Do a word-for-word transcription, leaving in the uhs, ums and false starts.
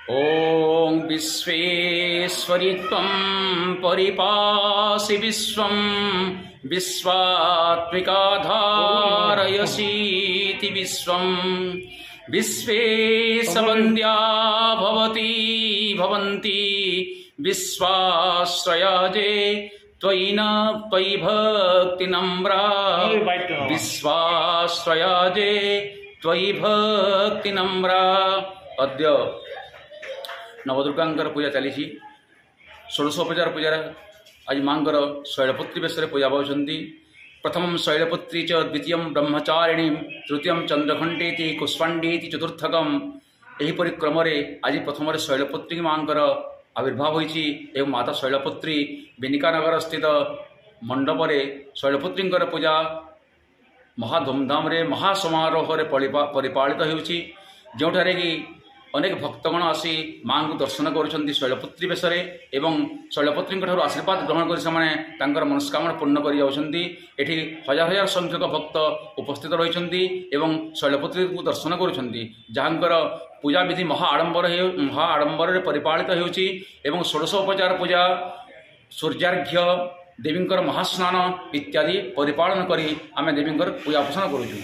ॐ विश्वेश्वरि त्वं परिपासि विश्वं विश्वात्मिका धारयसीति विश्वं विश्वेशवन्द्या भवती भवन्ति विश्वाश्रयाजे त्वयि न त्वयि भक्तिनम्रा विश्वाश्रयाजे त्वयि भक्तिनम्रा। ଅଦ୍ୟ ନବଦୁର୍ଗାଙ୍କର ପୂଜା ଚାଲିଛି। ଷୋଡ଼ଶ ଉପଚାର ପୂଜାରେ ଆଜି ମାଙ୍କର ଶୈଳପୁତ୍ରୀ ବେଶରେ ପୂଜା ପାଉଛନ୍ତି। ପ୍ରଥମಂ ଶୈଳପୁତ୍ରୀ ଚ ଦ୍ୱିତୀୟಂ ବ୍ରହ୍ମଚାରିଣୀ ତୃତୀୟಂ ଚନ୍ଦ୍ରଘଣ୍ଟେତି କୁଷ୍ମାଣ୍ଡୀତି ଚତୁର୍ଥକମ୍। ଏହିପରି କ୍ରମରେ ଆଜି ପ୍ରଥମରେ ଶୈଳପୁତ୍ରୀ ମାଙ୍କର ଆବିର୍ଭାବ ହୋଇଛି ଏବଂ ମାତା ଶୈଳପୁତ୍ରୀ ବିନିକାନଗର ସ୍ଥିତ ମଣ୍ଡପରେ ଶୈଳପୁତ୍ରୀଙ୍କର ପୂଜା ମହା ଧୁମଧାମରେ ମହା ସମାରୋହରେ ପରିପାଳିତ ହେଉଛି, ଯେଉଁଠାରେ କି ଅନେକ ଭକ୍ତଗଣ ଆସି ମାଆଙ୍କୁ ଦର୍ଶନ କରୁଛନ୍ତି ଶୈଳପୁତ୍ରୀ ବେଶରେ ଏବଂ ଶୈଳପୁତ୍ରୀଙ୍କ ଠାରୁ ଆଶୀର୍ବାଦ ଗ୍ରହଣ କରି ସେମାନେ ତାଙ୍କର ମନସ୍କାମନା ପୂର୍ଣ୍ଣ କରି ଯାଉଛନ୍ତି। ଏଠି ହଜାର ହଜାର ସଂଖ୍ୟକ ଭକ୍ତ ଉପସ୍ଥିତ ରହିଛନ୍ତି ଏବଂ ଶୈଳପୁତ୍ରୀଙ୍କୁ ଦର୍ଶନ କରୁଛନ୍ତି, ଯାହାଙ୍କର ପୂଜାବିଧି ମହା ଆଡ଼ମ୍ବର ହେଉ ମହା ଆଡ଼ମ୍ବରରେ ପରିପାଳିତ ହେଉଛି ଏବଂ ଷୋଡ଼ଶ ଉପଚାର ପୂଜା, ସୂର୍ଯ୍ୟାର୍ଘ୍ୟ, ଦେବୀଙ୍କର ମହାସ୍ନାନ ଇତ୍ୟାଦି ପରିପାଳନ କରି ଆମେ ଦେବୀଙ୍କର ପୂଜା ଉପାସନା କରୁଛୁ।